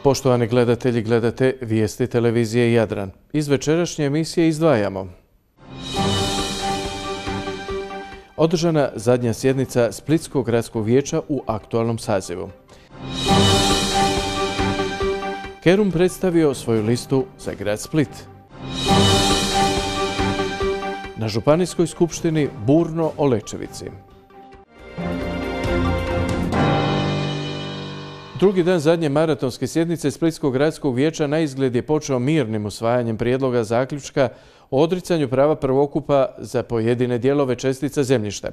Poštovani gledatelji, gledate vijesti televizije Jadran. Iz večerašnje emisije izdvajamo. Održana zadnja sjednica Splitskog gradskog vijeća u aktualnom sazivu. Kerum predstavio svoju listu za grad Split. Na županijskoj skupštini burno o Lečevici. Drugi dan zadnje maratonske sjednice Splitskog gradskog vijeća na izgled je počeo mirnim usvajanjem prijedloga zaključka o odricanju prava prvokupa za pojedine dijelove čestica zemljišta.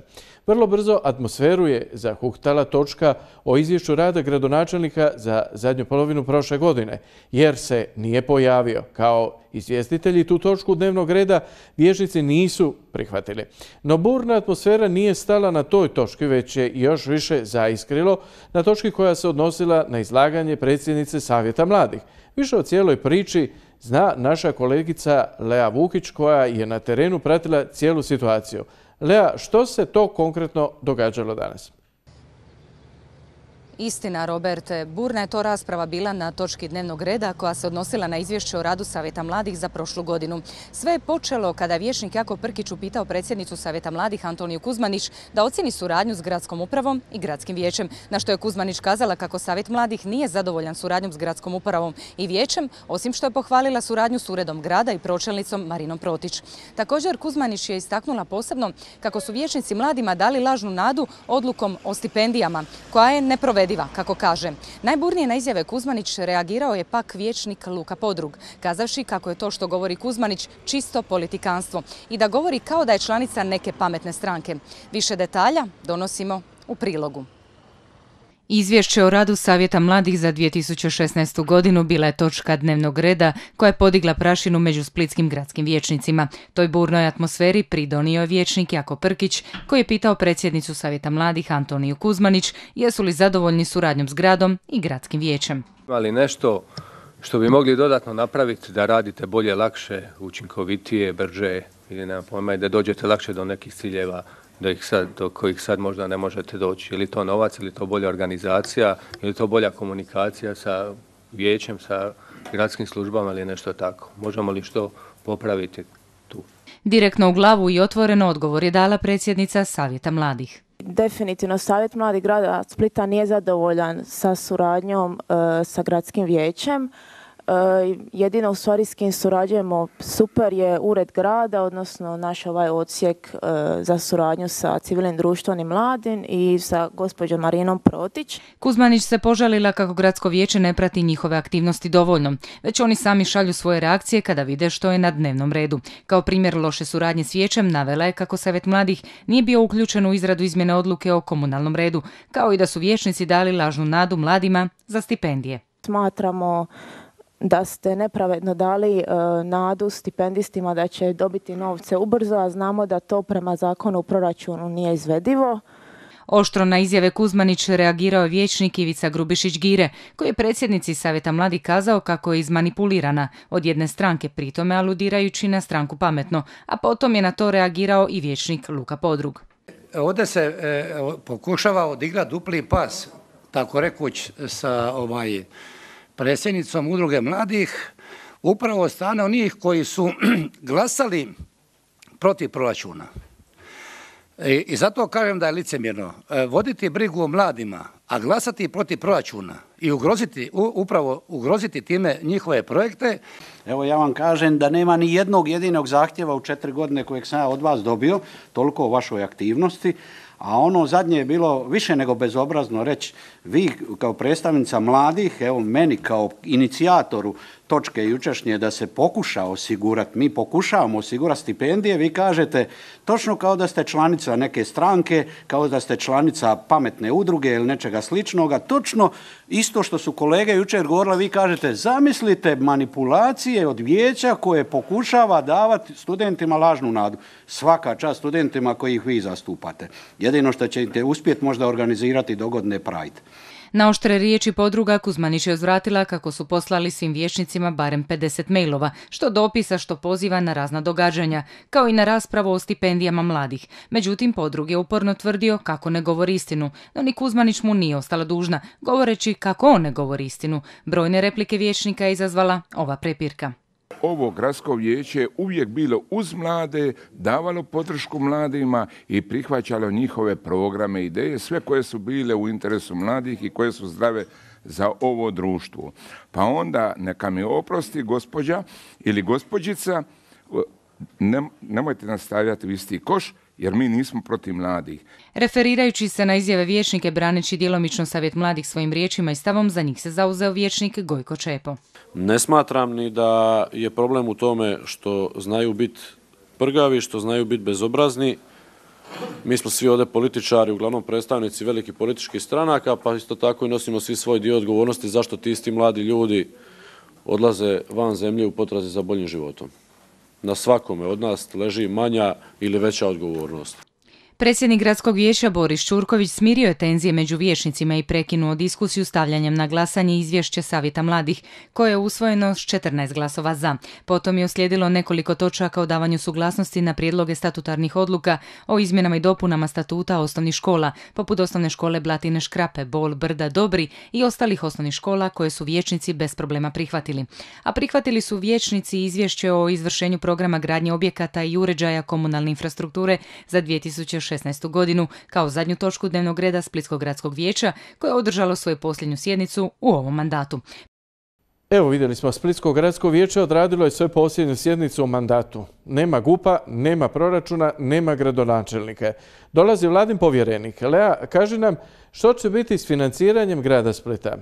Vrlo brzo atmosferu je zahuktala točka o izvješću rada gradonačelnika za zadnju polovinu prošle godine, jer se nije pojavio. Kao izvjestitelji tu točku dnevnog reda vijećnici nisu prihvatili. No burna atmosfera nije stala na toj točki, već je još više zaiskrilo na točki koja se odnosila na izlaganje predsjednice Savjeta mladih. Više o cijeloj priči zna naša kolegica Lea Vukić, koja je na terenu pratila cijelu situaciju. Lea, što se to konkretno događalo danas? Istina, Roberte. Burna je to rasprava bila na točki dnevnog reda koja se odnosila na izvješće o radu Savjeta mladih za prošlu godinu. Sve je počelo kada je vijećnik Jako Prkić upitao predsjednicu Savjeta mladih Antoniju Kuzmanić da ocjeni suradnju s gradskom upravom i gradskim vijećem, na što je Kuzmanić kazala kako Savjet mladih nije zadovoljan suradnjom s gradskom upravom i vijećem, osim što je pohvalila suradnju s uredom grada i pročelnicom Marinom Protić. Također, Kuzmanić je istaknula posebno kako su vijećnici mladima dali lažnu nadu odlukom o stipendijama, koja je neprovediva, kako kaže. Najburnije na izjave Kuzmanić reagirao je pak vijećnik Luka Podrug, kazavši kako je to što govori Kuzmanić čisto politikanstvo i da govori kao da je članica neke pametne stranke. Više detalja donosimo u prilogu. Izvješće o radu Savjeta mladih za 2016. godinu bila je točka dnevnog reda koja je podigla prašinu među splitskim gradskim vijećnicima. Toj burnoj atmosferi pridonio je vijećnik Jako Prkić, koji je pitao predsjednicu Savjeta mladih Antoniju Kuzmanić jesu li zadovoljni suradnjom s gradom i gradskim vijećem. Ima li nešto što bi mogli dodatno napraviti da radite bolje, lakše, učinkovitije, brže ili nema pojma, da dođete lakše do nekih ciljeva do kojih sad možda ne možete doći. Ili to novac, ili to bolja organizacija, ili to bolja komunikacija sa vijećem, sa gradskim službama ili nešto tako. Možemo li što popraviti tu? Direktno u glavu i otvoreno odgovor je dala predsjednica Savjeta mladih. Definitivno Savjet mladih grada Splita nije zadovoljan sa suradnjom sa gradskim vijećem. Jedino u stvari s kim surađujemo super je ured grada, odnosno naš ovaj odsjek za suradnju sa civilnim društvom i mladim i sa gospođom Marinom Protić. Kuzmanić se požalila kako gradsko vijeće ne prati njihove aktivnosti dovoljno, već oni sami šalju svoje reakcije kada vide što je na dnevnom redu. Kao primjer loše suradnje s vijećem navela je kako Savjet mladih nije bio uključen u izradu izmjene odluke o komunalnom redu, kao i da su vijećnici dali lažnu nadu mladima za stipendije. Smatramo da ste nepravedno dali nadu stipendistima da će dobiti novce ubrzo, a znamo da to prema zakonu u proračunu nije izvedivo. Oštro na izjave Kuzmanić reagirao je vijećnik Ivica Grubišić-Gire, koji je predsjednici Savjeta mladih kazao kako je izmanipulirana od jedne stranke, pritome aludirajući na stranku Pametno, a potom je na to reagirao i vijećnik Luka Podrug. Ovdje se pokušava odigrati dupli pas, tako rekuć, sa predsjednicom udruge mladih, upravo od strane onih koji su glasali protiv proračuna. I zato kažem da je licemjerno voditi brigu o mladima, a glasati protiv proračuna i ugroziti time njihove projekte. Evo ja vam kažem da nema ni jednog jedinog zahtjeva u 4 godine kojeg sam ja od vas dobio, toliko o vašoj aktivnosti. A ono zadnje je bilo više nego bezobrazno reći, vi kao predstavnica mladih, evo meni kao inicijatoru točke jučerašnje da se pokuša osigurati, mi pokušavamo osigurati stipendije, vi kažete točno kao da ste članica neke stranke, kao da ste članica pametne udruge ili nečega sličnoga, točno isto što su kolege jučer govorili, vi kažete zamislite manipulacije od vijeća koje pokušava davati studentima lažnu nadu. Svaka čast studentima koji ih vi zastupate. Jedino što ćete uspjeti možda organizirati dogodne Pride. Na oštre riječi podruga Kuzmanić je uzvratila kako su poslali svim vijećnicima barem 50 mailova, što dopisa što poziva na razna događanja, kao i na raspravu o stipendijama mladih. Međutim, podrug je uporno tvrdio kako ne govori istinu, no ni Kuzmanić mu nije ostala dužna, govoreći kako on ne govori istinu. Brojne replike vijećnika je izazvala ova prepirka. Ovo gradsko vijeće je uvijek bilo uz mlade, davalo podršku mladima i prihvaćalo njihove programe, ideje, sve koje su bile u interesu mladih i koje su zdrave za ovo društvo. Pa onda neka mi oprosti gospođa ili gospođica, nemojte nas stavljati u isti koš, jer mi nismo protiv mladih. Referirajući se na izjave vijećnike braneći djelomično Savjet mladih svojim riječima i stavom, za njih se zauzeo vijećnik Gojko Čepo. Ne smatram ni da je problem u tome što znaju biti prgavi, što znaju biti bezobrazni. Mi smo svi ovdje političari, uglavnom predstavnici velikih političkih stranaka, pa isto tako i nosimo svi svoj dio odgovornosti zašto ti isti mladi ljudi odlaze van zemlje u potrazi za boljim životom. Na svakome od nas leži manja ili veća odgovornost. Predsjednik gradskog vijeća Boris Čurković smirio je tenzije među vijećnicima i prekinuo diskusiju stavljanjem na glasanje izvješće Savjeta mladih, koje je usvojeno s 14 glasova za. Potom je uslijedilo nekoliko točaka o davanju suglasnosti na prijedloge statutarnih odluka o izmjenama i dopunama statuta osnovnih škola, poput osnovne škole Blatine Škrape, Bol, Brda, Dobri i ostalih osnovnih škola koje su vijećnici bez problema prihvatili. A prihvatili su vijećnici izvješće o izvršenju programa gradnje objekata i uređaja komunalne infrastrukture za 2016. godinu kao zadnju točku dnevnog reda Splitskog gradskog vijeća koje je održalo svoju posljednju sjednicu u ovom mandatu. Evo vidjeli smo, Splitsko gradsko vijeće odradilo je svoju posljednju sjednicu u mandatu. Nema GUP-a, nema proračuna, nema gradonačelnika. Dolazi vladin povjerenik. Lea, kaži nam što će biti s financiranjem grada Splita?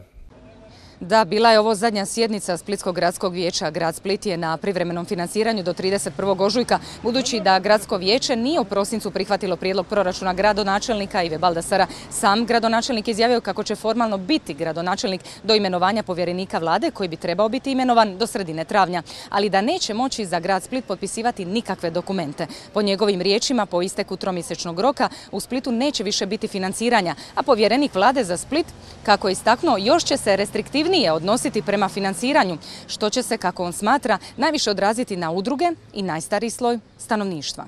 Da, bila je ovo zadnja sjednica Splitskog gradskog vijeća. Grad Split je na privremenom financiranju do 31. ožujka, budući da gradsko vijeće nije u prosincu prihvatilo prijedlog proračuna gradonačelnika Ive Baldasara. Sam gradonačelnik izjavio kako će formalno biti gradonačelnik do imenovanja povjerenika vlade, koji bi trebao biti imenovan do sredine travnja, ali da neće moći za grad Split potpisivati nikakve dokumente. Po njegovim riječima, po isteku tromjesečnog roka, u Splitu neće više biti financiranja, a povjerenik vlade za Split, kako je istaknuo, još će se restriktivnije odnositi prema financiranju, što će se, kako on smatra, najviše odraziti na udruge i najstariji sloj stanovništva.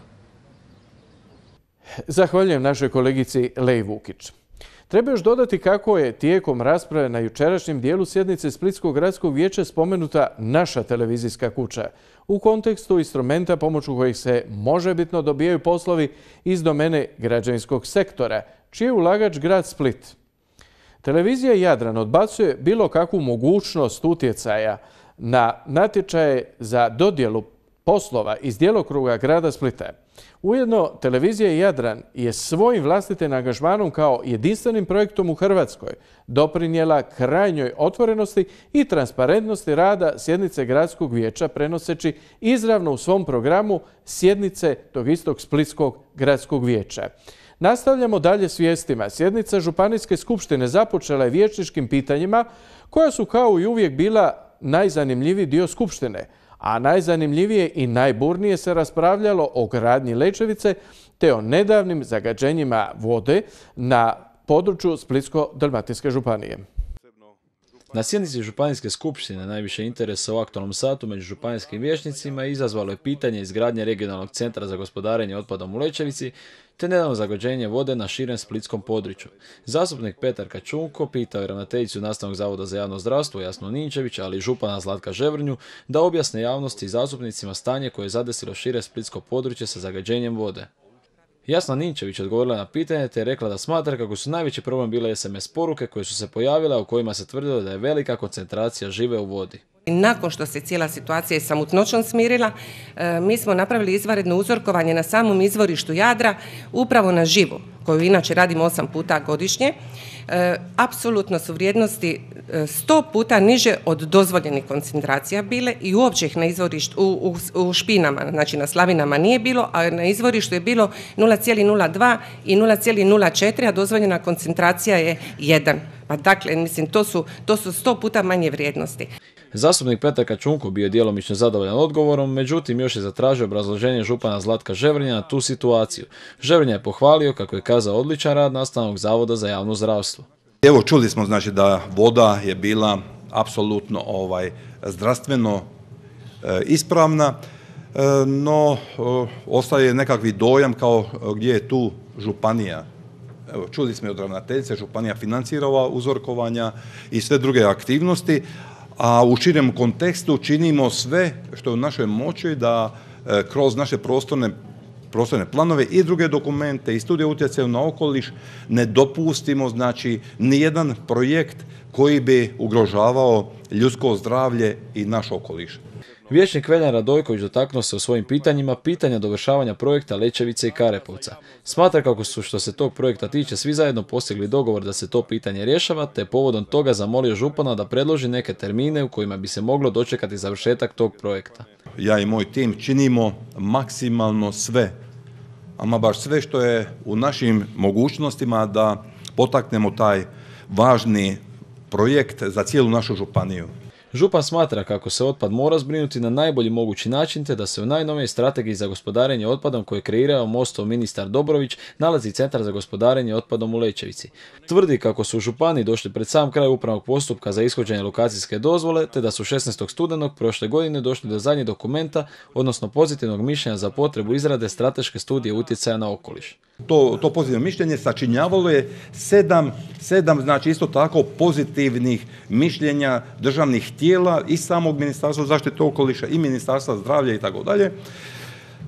Zahvaljujem našoj kolegici Leji Vukić. Treba još dodati kako je tijekom rasprave na jučerašnjem dijelu sjednice Splitskog gradskog vijeća spomenuta naša televizijska kuća u kontekstu instrumenta pomoću kojih se možebitno dobijaju poslovi iz domene građevinskog sektora, čiji je ulagač grad Split. Televizija Jadran odbacuje bilo kakvu mogućnost utjecaja na natječaje za dodjelu poslova iz djelokruga grada Splita. Ujedno, televizija Jadran je svojim vlastitim angažmanom kao jedinstvenim projektom u Hrvatskoj doprinijela krajnjoj otvorenosti i transparentnosti rada sjednice gradskog vijeća, prenoseći izravno u svom programu sjednice tog istog Splitskog gradskog vijeća. Nastavljamo dalje s vijestima. Sjednica Županijske skupštine započela je vijećničkim pitanjima koja su kao i uvijek bila najzanimljiviji dio skupštine, a najzanimljivije i najburnije se raspravljalo o gradnji Lećevice te o nedavnim zagađenjima vode na području Splitsko-dalmatinske županije. Na sjednici Županijske skupštine najviše interesa u aktualnom satu među županijskim vijećnicima izazvalo je pitanje izgradnje regionalnog centra za gospodarenje otpadom u Lećevici te nedavno zagađenje vode na širem splitskom području. Zastupnik Petar Kačunko pitao je ravnateljicu Nastavnog zavoda za javno zdravstvo Jasnu Ninčević, ali i župana Zlatka Ževrnju, da objasne javnosti i zastupnicima stanje koje je zadesilo šire splitsko područje sa zagađenjem vode. Jasna Ninčević odgovorila na pitanje te je rekla da smatra kako su najveći problem bile SMS poruke koje su se pojavile u kojima se tvrdilo da je velika koncentracija žive u vodi. Nakon što se cijela situacija sa mutnoćom smirila, mi smo napravili izvanredno uzorkovanje na samom izvorištu Jadra, upravo na živu, koju inače radimo 8 puta godišnje. Apsolutno su vrijednosti 100 puta niže od dozvoljenih koncentracija bile i uopće ih na izvorištu, u špinama, znači na slavinama nije bilo, a na izvorištu je bilo 0,02 i 0,04, a dozvoljena koncentracija je 1. Pa dakle, mislim, to su 100 puta manje vrijednosti. Zastupnik Petar Kačunko bio je djelomično zadovoljan odgovorom, međutim još je zatražio obrazloženje župana Zlatka Ževrnja na tu situaciju. Ževrnja je pohvalio, kako je kazao, odličan rad Nastavnog zavoda za javno zdravstvo. Evo, čuli smo znači da voda je bila apsolutno zdravstveno ispravna, no ostaje nekakvi dojam kao gdje je tu županija. Evo, čuli smo od ravnateljice, županija financira ova uzorkovanja i sve druge aktivnosti, a u širem kontekstu činimo sve što je u našoj moći da kroz naše prostorne planove i druge dokumente i studije utjecaja na okoliš ne dopustimo znači nijedan projekt koji bi ugrožavao ljudsko zdravlje i naš okoliš. Vijećnik Veljan Radojković dotaknuo se u svojim pitanjima pitanja dovršavanja projekta Lećevice i Karepovca. Smatra kako su što se tog projekta tiče svi zajedno postigli dogovor da se to pitanje rješava, te povodom toga zamolio župana da predloži neke termine u kojima bi se moglo dočekati završetak tog projekta. Ja i moj tim činimo maksimalno sve, ama baš sve što je u našim mogućnostima da potaknemo taj važni projekt za cijelu našu županiju. Župan smatra kako se otpad mora zbrinuti na najbolji mogući način, te da se u najnovijoj strategiji za gospodarenje otpadom koje je kreirao MOST-ov ministar Dobrović nalazi Centar za gospodarenje otpadom u Lećevici. Tvrdi kako su u županiji došli pred sam kraj upravnog postupka za ishođenje lokacijske dozvole, te da su 16. studenog prošle godine došli do zadnjeg dokumenta, odnosno pozitivnog mišljenja za potrebu izrade strateške studije utjecaja na okoliš. To pozitivno mišljenje sačinjavalo je sedam, znači isto tako pozitivnih mišljenja državnih tijela i samog Ministarstva zaštite okoliša i Ministarstva zdravlja i tako dalje.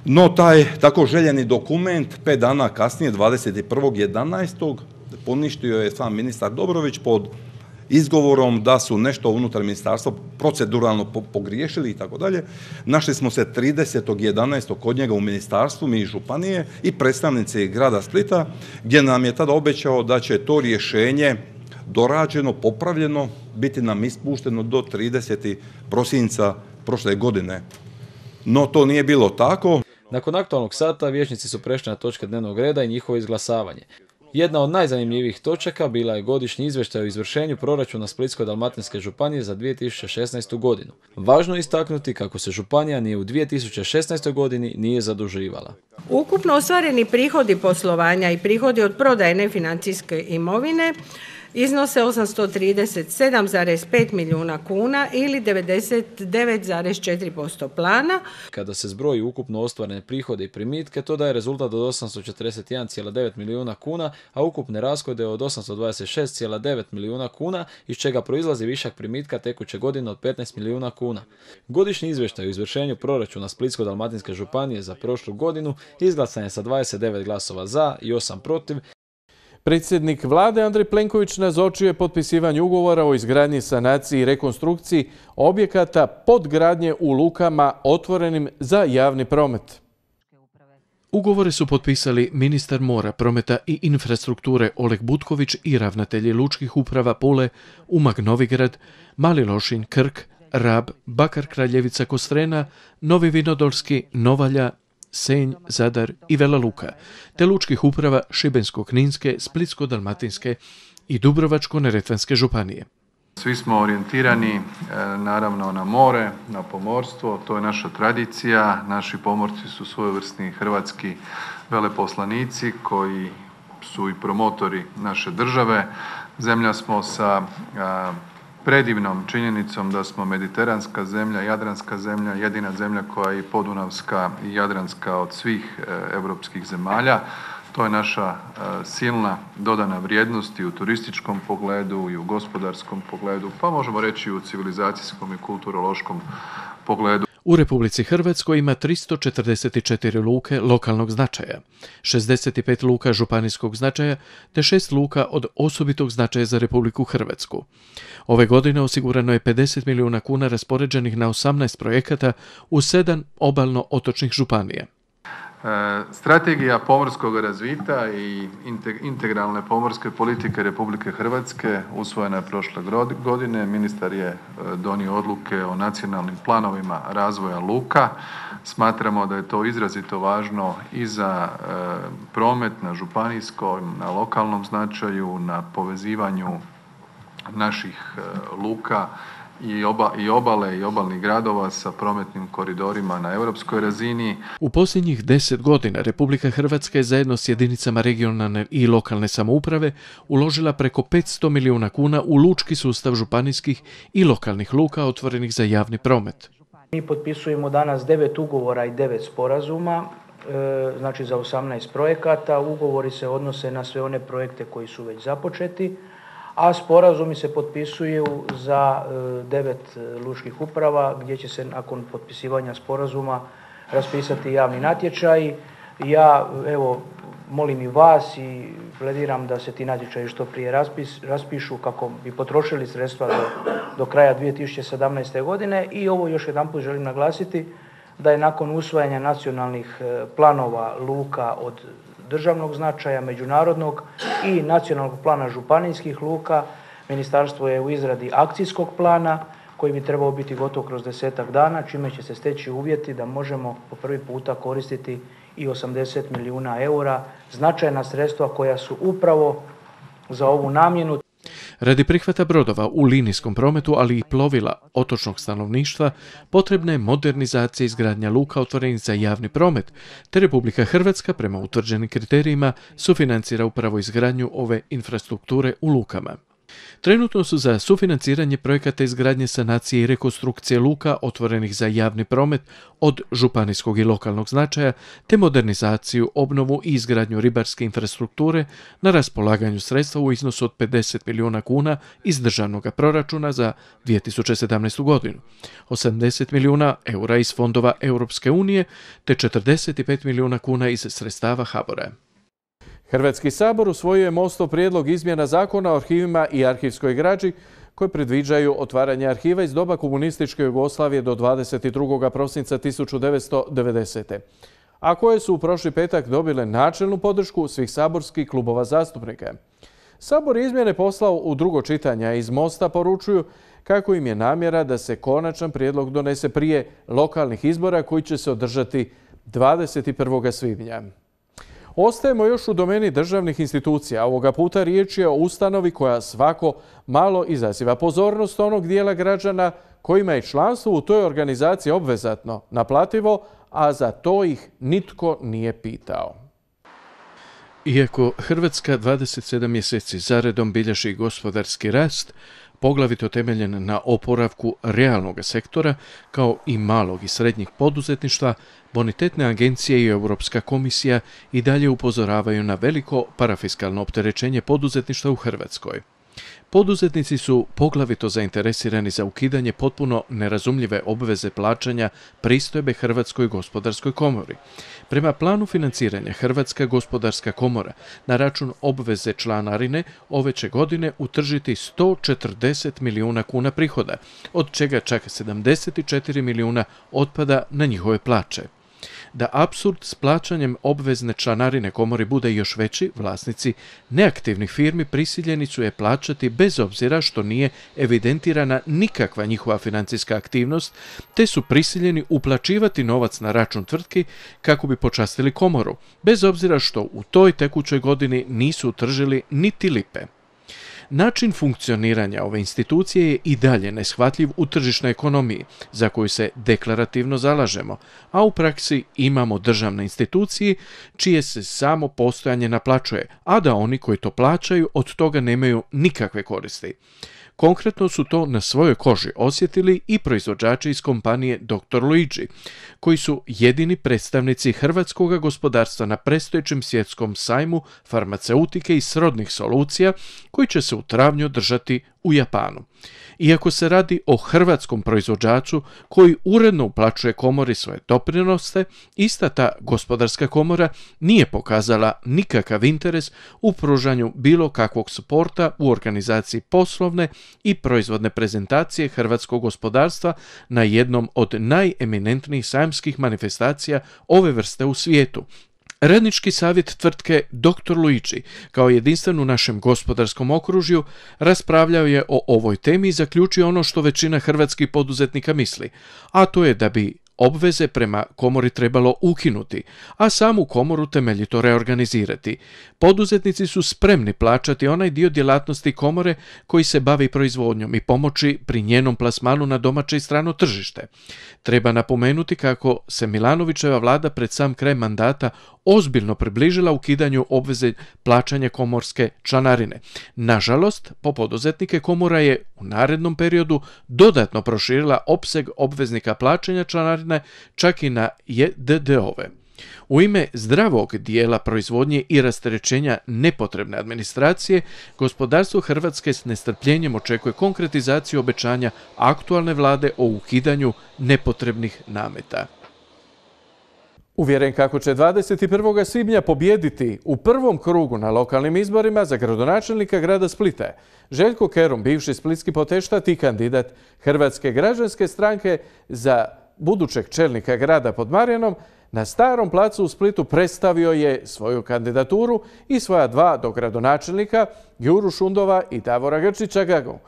No taj tako željeni dokument 5 dana kasnije, 21.11. poništio je sam ministar Dobrović pod izgovorom da su nešto unutar ministarstva proceduralno pogriješili i tako dalje. Našli smo se 30.11. kod njega u ministarstvu, mi iz županije i predstavnici grada Splita, gdje nam je tada obećao da će to rješenje dorađeno, popravljeno, biti nam ispušteno do 30. prosinca prošle godine. No to nije bilo tako. Nakon aktualnog sata vijećnici su prešli na točke dnevnog reda i njihovo izglasavanje. Jedna od najzanimljivijih točaka bila je godišnji izvještaj o izvršenju proračuna Splitsko-dalmatinske županije za 2016. godinu. Važno je istaknuti kako se županija ni u 2016. godini nije zaduživala. Ukupno ostvareni prihodi poslovanja i prihodi od prodaje nefinancijske imovine iznose 837,5 milijuna kuna ili 99,4% plana. Kada se zbroji ukupno ostvarene prihode i primitke, to daje rezultat od 841,9 milijuna kuna, a ukupne rashode od 826,9 milijuna kuna, iz čega proizlazi višak primitka tekuće godine od 15 milijuna kuna. Godišnji izvještaj o izvršenju proračuna Splitsko-dalmatinske županije za prošlu godinu izglasan je sa 29 glasova za i 8 protiv. Predsjednik vlade Andrej Plenković nazočio je potpisivanju ugovora o izgradnji, sanaciji i rekonstrukciji objekata podgradnje u lukama otvorenim za javni promet. Ugovore su potpisali ministar mora, prometa i infrastrukture Oleg Butković i ravnatelji lučkih uprava Pule, Umag Novigrad, Mali Lošinj, Krk, Rab, Bakar Kraljevica Kostrena, Novi Vinodolski, Novalja, Senj, Zadar i Vela Luka, te lučkih uprava Šibensko-kninske, Splitsko-dalmatinske i Dubrovačko-neretvanske županije. Svi smo orijentirani naravno na more, na pomorstvo, to je naša tradicija. Naši pomorci su svojevrsni hrvatski veleposlanici koji su i promotori naše države. Zemlja smo sa predivnom činjenicom da smo mediteranska zemlja, jadranska zemlja, jedina zemlja koja je i podunavska i jadranska od svih europskih zemalja. To je naša silna dodana vrijednost i u turističkom pogledu i u gospodarskom pogledu, pa možemo reći i u civilizacijskom i kulturološkom pogledu. U Republici Hrvatskoj ima 344 luke lokalnog značaja, 65 luka županijskog značaja te 6 luka od osobitog značaja za Republiku Hrvatsku. Ove godine osigurano je 50 milijuna kuna raspoređenih na 18 projekata u 7 obalno-otočnih županija. Strategija pomorskog razvita i integralne pomorske politike Republike Hrvatske usvojena je prošle godine. Ministar je donio odluke o nacionalnim planovima razvoja luka. Smatramo da je to izrazito važno i za promet na županijskom, na lokalnom značaju, na povezivanju naših luka i obale i obalnih gradova sa prometnim koridorima na europskoj razini. U posljednjih 10 godina Republika Hrvatska je zajedno s jedinicama regionalne i lokalne samouprave uložila preko 500 milijuna kuna u lučki sustav županijskih i lokalnih luka otvorenih za javni promet. Mi potpisujemo danas 9 ugovora i 9 sporazuma, znači za 18 projekata. Ugovori se odnose na sve one projekte koji su već započeti, a sporazumi se potpisuju za 9 lučkih uprava gdje će se nakon potpisivanja sporazuma raspisati javni natječaj. Ja molim i vas i plediram da se ti natječaji što prije raspišu kako bi potrošili sredstva do kraja 2017. godine. I ovo još jedanput želim naglasiti da je nakon usvajanja nacionalnih planova luka od državnog značaja, međunarodnog i nacionalnog plana županijskih luka, ministarstvo je u izradi akcijskog plana koji bi trebao biti gotov kroz 10-ak dana, čime će se steći uvjeti da možemo po prvi puta koristiti i 80 milijuna eura, značajna sredstva koja su upravo za ovu namjenu. Radi prihvata brodova u linijskom prometu, ali i plovila otočnog stanovništva, potrebna je modernizacija i izgradnja luka otvorenih za javni promet, te Republika Hrvatska prema utvrđenim kriterijima sufinancira upravo izgradnju ove infrastrukture u lukama. Trenutno su za sufinanciranje projekata izgradnje, sanacije i rekonstrukcije luka otvorenih za javni promet od županijskog i lokalnog značaja, te modernizaciju, obnovu i izgradnju ribarske infrastrukture na raspolaganju sredstva u iznosu od 50 milijuna kuna iz državnog proračuna za 2017. godinu, 80 milijuna eura iz fondova Europske unije, te 45 milijuna kuna iz sredstava HBOR-a. Hrvatski sabor usvojio je MOST-ov prijedlog izmjena Zakona o arhivima i arhivskoj građi koji predviđaju otvaranje arhiva iz doba komunističke Jugoslavije do 22. prosinca 1990. a koje su u prošli petak dobile načelnu podršku svih saborskih klubova zastupnika. Sabor izmjene poslao u drugo čitanje, a iz MOST-a poručuju kako im je namjera da se konačan prijedlog donese prije lokalnih izbora koji će se održati 21. svibnja. Ostajemo još u domeni državnih institucija. Ovoga puta riječ je o ustanovi koja svako malo izaziva pozornost onog dijela građana kojima je članstvo u toj organizaciji obvezatno, naplativo, a za to ih nitko nije pitao. Iako Hrvatska 27 mjeseci zaredom bilježi gospodarski rast, poglavito temeljen na oporavku realnog sektora, kao i malog i srednjih poduzetništva, bonitetne agencije i Europska komisija i dalje upozoravaju na veliko parafiskalno opterećenje poduzetništva u Hrvatskoj. Poduzetnici su poglavito zainteresirani za ukidanje potpuno nerazumljive obveze plaćanja pristojbe Hrvatskoj gospodarskoj komori. Prema planu financiranja Hrvatska gospodarska komora na račun obveze članarine ove će godine utržiti 140 milijuna kuna prihoda, od čega čak 74 milijuna otpada na njihove plaće. Da apsurd s plaćanjem obvezne članarine komori bude još veći, vlasnici neaktivnih firmi prisiljeni su je plaćati bez obzira što nije evidentirana nikakva njihova financijska aktivnost, te su prisiljeni uplaćivati novac na račun tvrtki kako bi počastili komoru, bez obzira što u toj tekućoj godini nisu utržili niti lipe. Način funkcioniranja ove institucije je i dalje neshvatljiv u tržišnoj ekonomiji, za koju se deklarativno zalažemo, a u praksi imamo državne institucije čije se samo postojanje naplaćuje, a da oni koji to plaćaju od toga nemaju nikakve koristi. Konkretno su to na svojoj koži osjetili i proizvođači iz kompanije Dr. Luigi, koji su jedini predstavnici hrvatskog gospodarstva na predstojećem svjetskom sajmu farmaceutike i srodnih solucija koji će se u travnju održati u Japanu. Iako se radi o hrvatskom proizvođaču koji uredno uplaćuje komori svoje doprinose, ista ta gospodarska komora nije pokazala nikakav interes u pružanju bilo kakvog suporta u organizaciji poslovne i proizvodne prezentacije hrvatskog gospodarstva na jednom od najeminentnijih sajamskih manifestacija ove vrste u svijetu. Radnički savjet tvrtke Dr. Luigi, kao jedinstven u našem gospodarskom okružju, raspravljao je o ovoj temi i zaključio ono što većina hrvatskih poduzetnika misli, a to je da bi obveze prema komori trebalo ukinuti, a samu komoru temeljito reorganizirati. Poduzetnici su spremni plaćati onaj dio djelatnosti komore koji se bavi proizvodnjom i pomoći pri njenom plasmanu na domaće i strano tržište. Treba napomenuti kako se Milanovićeva vlada pred sam kraj mandata ozbiljno približila ukidanju obveze plaćanja komorske članarine. Nažalost, po poduzetnike komora je u narednom periodu dodatno proširila opseg obveznika plaćanja članarine čak i na JDD-ove. U ime zdravog dijela proizvodnje i rasterećenja nepotrebne administracije, gospodarstvo Hrvatske s nestrpljenjem očekuje konkretizaciju obećanja aktualne vlade o ukidanju nepotrebnih nameta. Uvjeren kako će 21. svibnja pobijediti u prvom krugu na lokalnim izborima za gradonačelnika grada Splita, Željko Kerum, bivši splitski poteštat i kandidat Hrvatske građanske stranke za budućeg čelnika grada pod Marjanom, na Starom placu u Splitu predstavio je svoju kandidaturu i svoja dva dogradonačelnika, Juru Šundova i Davora Grčića Gagu.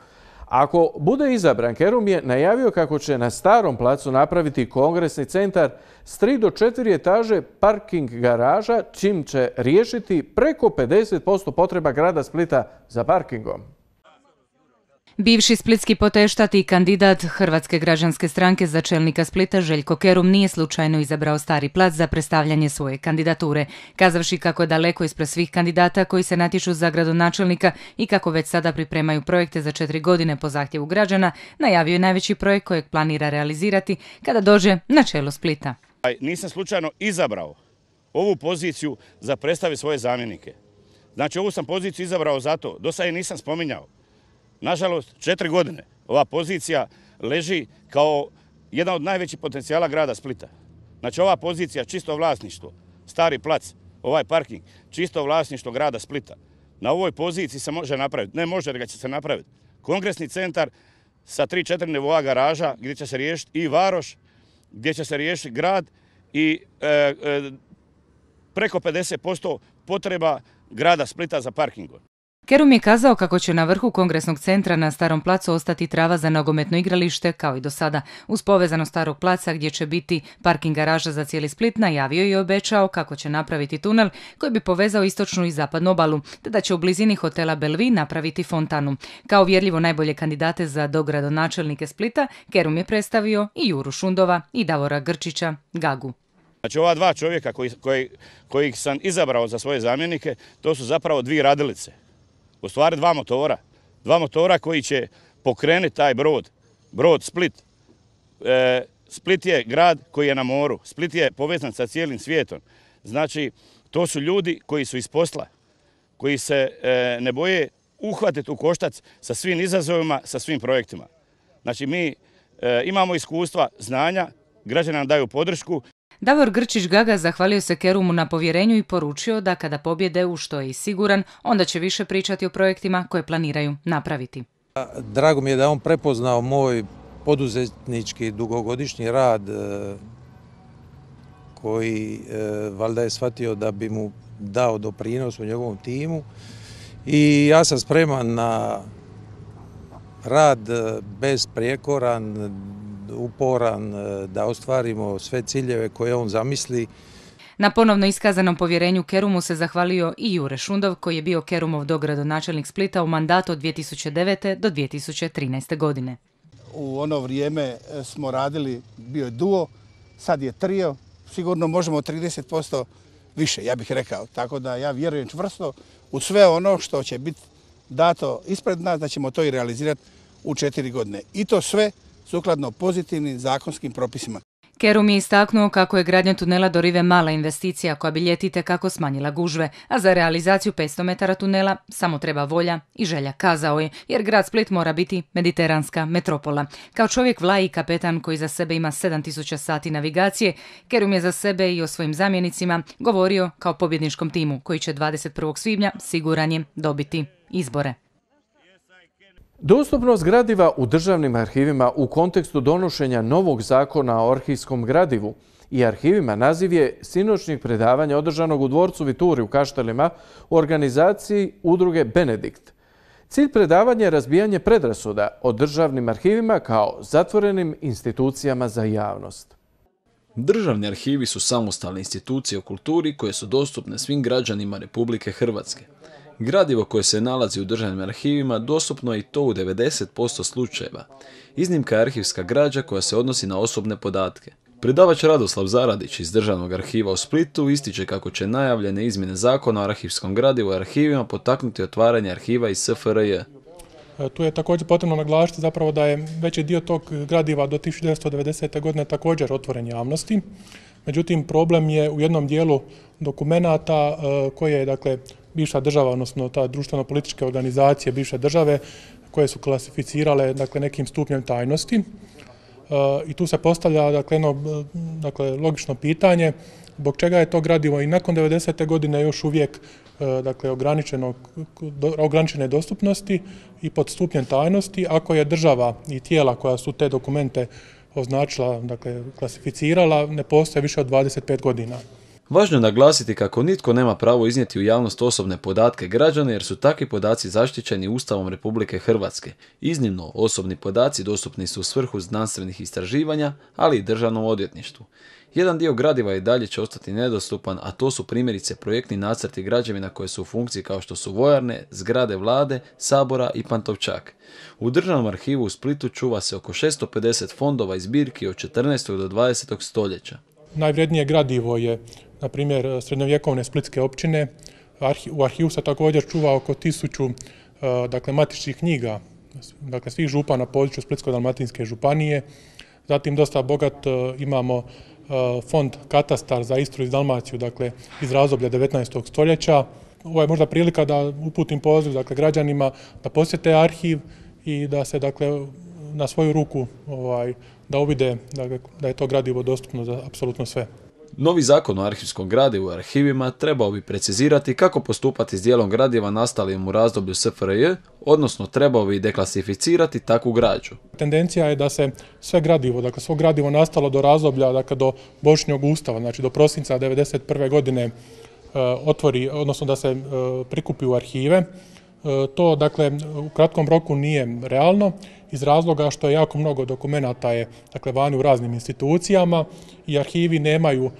Ako bude izabran, Kerum je najavio kako će na Starom placu napraviti kongresni centar s 3 do 4 etaže parking garaža, čim će riješiti preko 50% potreba grada Splita za parkingom. Bivši splitski poteštat i kandidat Hrvatske građanske stranke za čelnika Splita Željko Kerum nije slučajno izabrao Stari plac za predstavljanje svoje kandidature, kazavši kako je daleko ispred svih kandidata koji se natječu za gradonačelnika i kako već sada pripremaju projekte za 4 godine po zahtjevu građana, najavio je najveći projekt kojeg planira realizirati kada dođe na čelo Splita. Nisam slučajno izabrao ovu poziciju za predstaviti svoje zamjenike. Znači, ovu sam poziciju izabrao zato, do sada je nisam spominjao. Nažalost, 4 godine ova pozicija leži kao jedan od najvećih potencijala grada Splita. Znači, ova pozicija, čisto vlasništvo, Stari plac, ovaj parking, čisto vlasništvo grada Splita. Na ovoj poziciji se može napraviti, ne može, nego će se napraviti kongresni centar sa 3-4 nivoa garaža gdje će se riješiti i varoš, gdje će se riješiti grad i preko 50% potreba grada Splita za parkingom. Kerum je kazao kako će na vrhu kongresnog centra na Starom placu ostati trava za nogometno igralište, kao i do sada. Uz povezanost Starog placa gdje će biti parking garaža za cijeli Split, najavio i obećao kako će napraviti tunel koji bi povezao istočnu i zapadnu obalu, te da će u blizini hotela Belvi napraviti fontanu. Kao uvjerljivo najbolje kandidate za dogradonačelnike Splita, Kerum je predstavio i Juru Šundova i Davora Grčića Gagu. Znači, ova dva čovjeka kojih sam izabrao za svoje zamjenike, to su zapravo dvije radilice. U stvari dva motora koji će pokrenuti taj brod Split. Split je grad koji je na moru, Split je povezan sa cijelim svijetom. Znači, to su ljudi koji su iz posla, koji se ne boje uhvatiti u koštac sa svim izazovima, sa svim projektima. Znači, mi imamo iskustva, znanja, građani nam daju podršku. Davor Grčić Gaga zahvalio se Kerumu na povjerenju i poručio da kada pobjede, u što je i siguran, onda će više pričati o projektima koje planiraju napraviti. Drago mi je da on prepoznao moj poduzetnički dugogodišnji rad koji valjda je shvatio da bi mu dao doprinos u njegovom timu i ja sam spreman na rad besprijekoran, uporan da ostvarimo sve ciljeve koje on zamisli. Na ponovno iskazanom povjerenju Kerumu se zahvalio i Jure Šundov, koji je bio Kerumov dogradonačelnik Splita u mandatu od 2009. do 2013. godine. U ono vrijeme smo radili, bio je duo, sad je trio, sigurno možemo 30% više, ja bih rekao. Tako da ja vjerujem čvrsto u sve ono što će biti dato ispred nas, da ćemo to i realizirati u 4 godine. I to sve sukladno pozitivnim zakonskim propisima. Kerum je istaknuo kako je gradnja tunela do Rive mala investicija koja bi ljeti itekako smanjila gužve, a za realizaciju 500 metara tunela samo treba volja i želja, kazao je, jer grad Split mora biti mediteranska metropola. Kao čovjek vlaj i kapetan koji za sebe ima 7000 sati navigacije, Kerum je za sebe i o svojim zamjenicima govorio kao pobjedničkom timu koji će 21. svibnja siguran je dobiti izbore. Dostupnost gradiva u državnim arhivima u kontekstu donošenja novog zakona o arhivskom gradivu i arhivima naziv je sinoćnjeg predavanja održanog u dvorcu Vituri u Kaštelima u organizaciji udruge Benedikt. Cilj predavanja je razbijanje predrasuda o državnim arhivima kao zatvorenim institucijama za javnost. Državni arhivi su samostalne institucije u kulturi koje su dostupne svim građanima Republike Hrvatske. Gradivo koje se nalazi u državnim arhivima dostupno je i to u 90% slučajeva. Iznimka je arhivska građa koja se odnosi na osobne podatke. Predavač Radoslav Zaradić iz Državnog arhiva u Splitu ističe kako će najavljene izmjene zakona o arhivskom gradivu i arhivima potaknuti otvaranje arhiva iz SFRJ. Tu je također potrebno naglasiti zapravo da je veći dio tog gradiva do 1990. godine također otvoren javnosti. Međutim, problem je u jednom dijelu dokumenata koje je, dakle, bivša država, odnosno ta društveno-političke organizacije bivše države koje su klasificirale, dakle, nekim stupnjem tajnosti. I tu se postavlja, dakle, jedno, dakle, logično pitanje zbog čega je to gradivo i nakon 90. godine još uvijek, dakle, ograničene dostupnosti i pod stupnjem tajnosti, ako je država i tijela koja su te dokumente označila, dakle, klasificirala, ne postoje više od 25 godina. Važno je naglasiti kako nitko nema pravo iznijeti u javnost osobne podatke građana jer su takvi podaci zaštićeni Ustavom Republike Hrvatske. Iznimno, osobni podaci dostupni su u svrhu znanstvenih istraživanja, ali i državnom odvjetništvu. Jedan dio gradiva i dalje će ostati nedostupan, a to su primjerice projektni nacrti građevina koje su u funkciji kao što su vojarne, zgrade vlade, sabora i Pantovčak. U Državnom arhivu u Splitu čuva se oko 650 fondova i zbirki od 14. do 20. stoljeća. Najvrednije gradivo je, na primjer, srednjovjekovne splitske općine. U arhivu se također čuva oko 1000, dakle, matičnih knjiga, dakle, svih župa na području Splitsko-dalmatinske županije. Zatim dosta bogat imamo fond katastar za Istru i Dalmaciju, dakle, iz razdoblja 19. stoljeća. Ovo je možda prilika da uputim poziv, dakle, građanima da posjete arhiv i da se, dakle, na svoju ruku da uvide, dakle, da je to gradivo dostupno za apsolutno sve. Novi zakon o arhivskom gradivu i arhivima trebao bi precizirati kako postupati s dijelom gradiva nastalim u razdoblju SFRJ, odnosno trebao bi deklasificirati takvu građu. Tendencija je da se sve gradivo, dakle, svo gradivo nastalo do razdoblja, dakle, do Božićnog ustava, znači do prosinca 1991. godine otvori, odnosno da se prikupi u arhive. To, dakle, u kratkom roku nije realno iz razloga što je jako mnogo dokumenata je, dakle, vani u raznim institucijama i arhivi nemaju,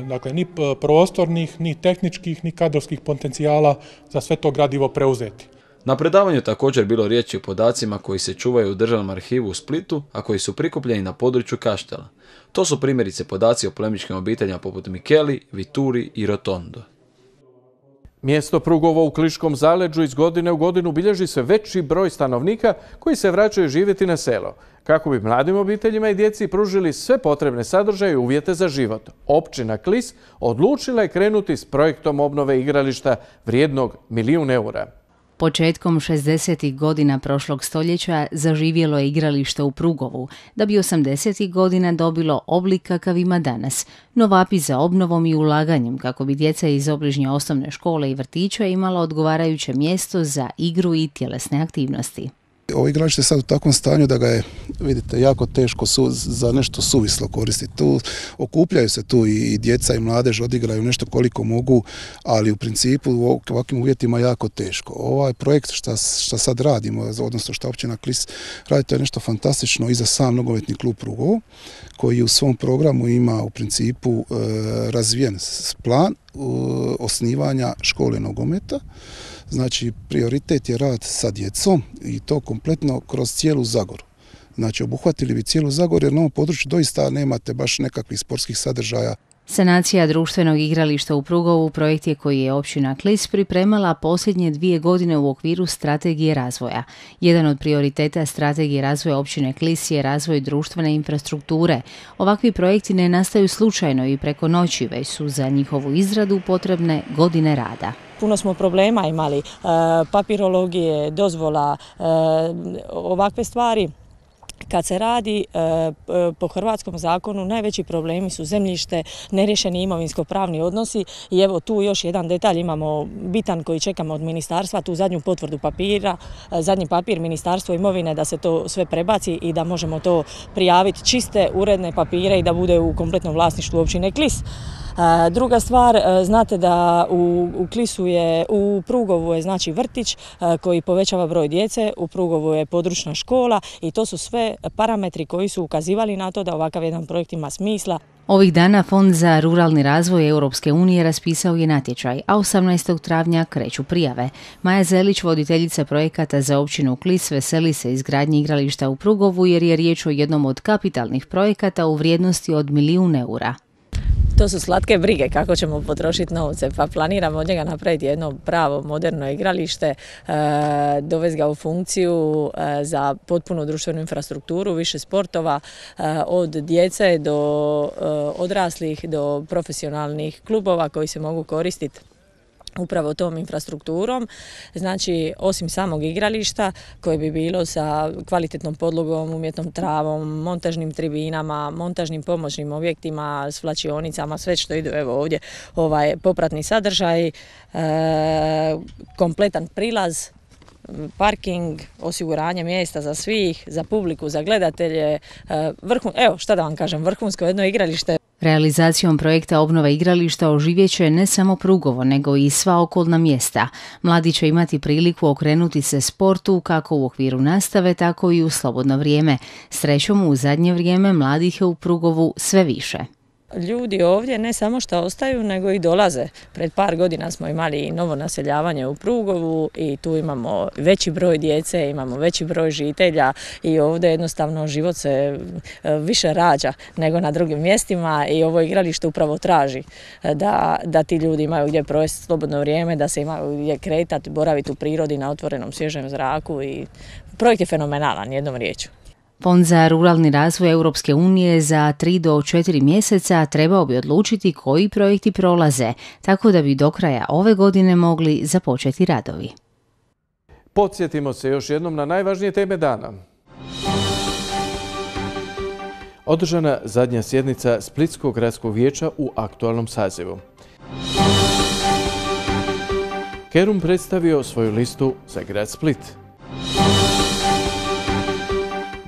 dakle, ni prostornih, ni tehničkih, ni kadrovskih potencijala za sve to gradivo preuzeti. Na predavanju je također bilo riječi o podacima koji se čuvaju u Državnom arhivu u Splitu, a koji su prikupljeni na području Kaštela. To su primjerice podaci o plemićkim obiteljima poput Mikeli, Vituri i Rotondo. Mjesto Prugovo u Kliškom zaleđu iz godine u godinu bilježi sve veći broj stanovnika koji se vraćaju živjeti na selo, kako bi mladim obiteljima i djeci pružili sve potrebne sadržaje i uvjete za život. Općina Klis odlučila je krenuti s projektom obnove igrališta vrijednog 1 milijun eura. Početkom 60. godina prošlog stoljeća zaživjelo je igralište u Prugovu, da bi 80. godina dobilo oblik kakav ima danas, no vapi za obnovom i ulaganjem kako bi djeca iz obližnje osnovne škole i vrtića imala odgovarajuće mjesto za igru i tjelesne aktivnosti. Ovo igralište je sad u takvom stanju da ga je, vidite, jako teško za nešto suvislo koristiti. Tu okupljaju se tu i djeca i mladež, odigraju nešto koliko mogu, ali u principu u ovakvim uvjetima jako teško. Ovaj projekt što sad radimo, odnosno što općina Klis radi, to je nešto fantastično i za sam nogometni klub Prugovo, koji u svom programu ima u principu razvijen plan osnivanja škole nogometa. Znači, prioritet je rad sa djecom i to kompletno kroz cijelu Zagoru. Znači, obuhvatili bi cijelu Zagoru jer na ovom području doista nemate baš nekakvih sportskih sadržaja. Sanacija društvenog igrališta u Prugovu projekt je koji je općina Klis pripremala posljednje 2 godine u okviru strategije razvoja. Jedan od prioriteta strategije razvoja općine Klis je razvoj društvene infrastrukture. Ovakvi projekti ne nastaju slučajno i preko noći, već su za njihovu izradu potrebne godine rada. Puno smo problema imali, papirologije, dozvola, ovakve stvari. Kad se radi po hrvatskom zakonu, najveći problemi su zemljište, neriješeni imovinsko-pravni odnosi i evo tu još jedan detalj imamo bitan koji čekamo od ministarstva, tu zadnju potvrdu papira, zadnji papir Ministarstvo imovine da se to sve prebaci i da možemo to prijaviti čiste, uredne papire i da bude u kompletnom vlasništvu općine Klis. Druga stvar, znate da u Klisu je, u Prugovu je znači vrtić koji povećava broj djece, u Prugovu je područna škola i to su sve parametri koji su ukazivali na to da ovakav jedan projekt ima smisla. Ovih dana Fond za ruralni razvoj Europske unije raspisao je natječaj, a 18. travnja kreću prijave. Maja Zelić, voditeljica projekata za općinu Klis, veseli se izgradnji igrališta u Prugovu jer je riječ o jednom od kapitalnih projekata u vrijednosti od 1 milijun eura. To su slatke brige kako ćemo potrošiti novce, pa planiramo od njega napraviti jedno pravo moderno igralište, dovesti ga u funkciju za potpunu društvenu infrastrukturu, više sportova, od djece do odraslih do profesionalnih klubova koji se mogu koristiti upravo tom infrastrukturom. Znači, osim samog igrališta koje bi bilo sa kvalitetnom podlogom, umjetnom travom, montažnim tribinama, montažnim pomoćnim objektima, s vlačionicama, sve što ide evo ovdje, popratni sadržaj, kompletan prilaz, parking, osiguranje mjesta za svih, za publiku, za gledatelje, evo šta da vam kažem, vrhunsko jedno igralište. Realizacijom projekta obnove igrališta oživjet će ne samo Prugovo, nego i sva okolna mjesta. Mladi će imati priliku okrenuti se sportu kako u okviru nastave, tako i u slobodno vrijeme. Srećom, u zadnje vrijeme mladih je u Prugovu sve više. Ljudi ovdje ne samo što ostaju, nego i dolaze. Pred par godina smo imali novo naseljavanje u Prugovu i tu imamo veći broj djece, imamo veći broj žitelja i ovdje jednostavno život se više rađa nego na drugim mjestima i ovo igralište upravo traži da ti ljudi imaju gdje provesti slobodno vrijeme, da se imaju gdje kretati, boraviti u prirodi na otvorenom svježem zraku i projekt je fenomenalan, jednom riječju. Fond za ruralni razvoj Europske unije za 3 do 4 mjeseca trebao bi odlučiti koji projekti prolaze, tako da bi do kraja ove godine mogli započeti radovi. Podsjetimo se još jednom na najvažnije teme dana. Održana zadnja sjednica Splitskog gradskog vijeća u aktualnom sazivu. Kerum predstavio svoju listu za grad Split.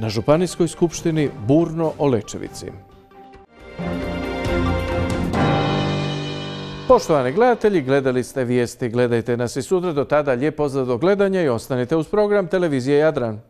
Na Županijskoj skupštini burno o Lečevici. Poštovani gledatelji, gledali ste vijesti, gledajte nas i sutra. Do tada lijep pozdrav do gledanja i ostanite uz program Televizije Jadran.